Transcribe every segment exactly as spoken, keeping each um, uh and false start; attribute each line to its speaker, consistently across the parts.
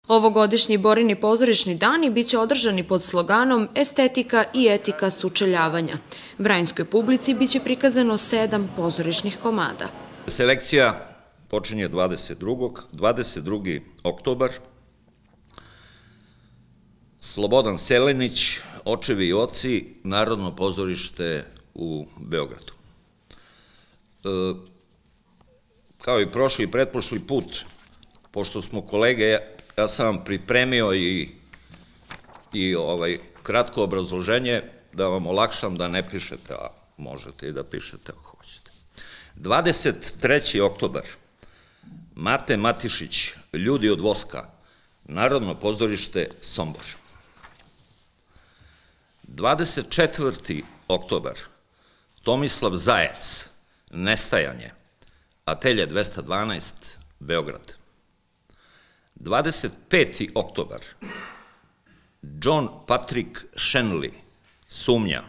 Speaker 1: Ovogodišnji Borini pozorišni dani biće održani pod sloganom Estetika i etika sučeljavanja. Vranjskoj publici biće prikazano sedam pozorišnih komada.
Speaker 2: Selekcija počinje dvadeset drugog dvadeset drugi oktobar. Slobodan Selenić, Očevi i oci, Narodno pozorište u Beogradu. E, kao i prošli i pretprošli put, pošto smo kolege, ja sam vam pripremio i, i ovaj, kratko obrazloženje da vam olakšam da ne pišete, a možete i da pišete ako hoćete. dvadeset treći oktobar, Mate Matišić, Ljudi od voska, Narodno pozorište Sombor. dvadeset četvrti oktobar, Tomislav Zajec, Nestajanje, Atelje dvesta dvanaest, Beograd. dvadeset peti oktobar, John Patrick Shenley, Sumnja,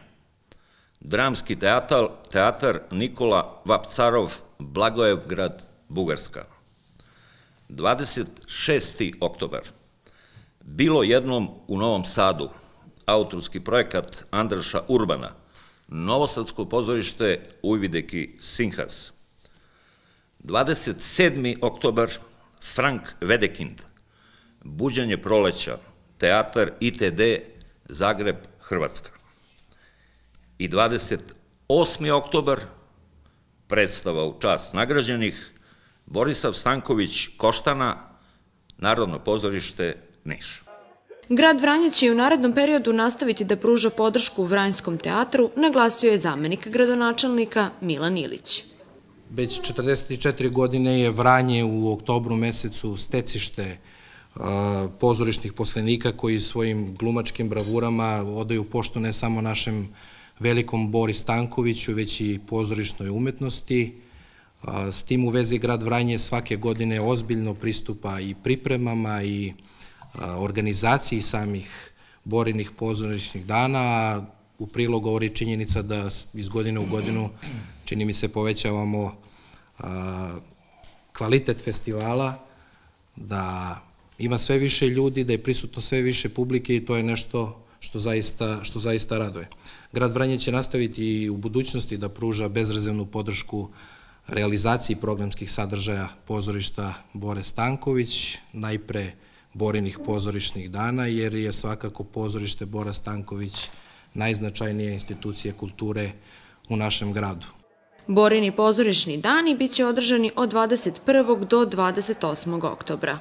Speaker 2: Dramski teatar, teatar Nikola Vapcarov, Blagoevgrad, Bugarska. dvadeset šesti oktobar, Bilo jednom u Novom Sadu, autorski projekat Andraša Urbana, Novosadsko pozorište Ujvideki Sinhas. dvadeset sedmi oktobar, Frank Wedekind, Buđenje proleća, teatar I T D, Zagreb, Hrvatska. I dvadeset osmi oktobar, predstava u čast nagrađenih, Borisav Stanković Koštana, Narodno pozorište Niš.
Speaker 1: Grad Vranje će u narednom periodu nastaviti da pruža podršku Vranjskom teatru, naglasio je zamenik gradonačelnika Milan Ilić.
Speaker 3: Već četrdeset četiri godine je Vranje u oktobru mesecu stecište pozorišnih poslenika koji svojim glumačkim bravurama odaju poštu ne samo našem velikom Bori Stankoviću, već i pozorišnoj umetnosti. S tim u vezi grad Vranje svake godine ozbiljno pristupa i pripremama i organizaciji samih Borinih pozorišnih dana. U prilog govori činjenica da iz godine u godinu, čini mi se, povećavamo kvalitet festivala, da ima sve više ljudi, da je prisutno sve više publike i to je nešto što zaista, što zaista raduje. Grad Vranje će nastaviti i u budućnosti da pruža bezrezervnu podršku realizaciji programskih sadržaja pozorišta Bore Stanković, najpre Borinih pozorišnih dana, jer je svakako pozorište Bora Stanković najznačajnija institucija kulture u našem gradu.
Speaker 1: Borini pozorišni dani biće održani od dvadeset prvog do dvadeset osmog oktobra.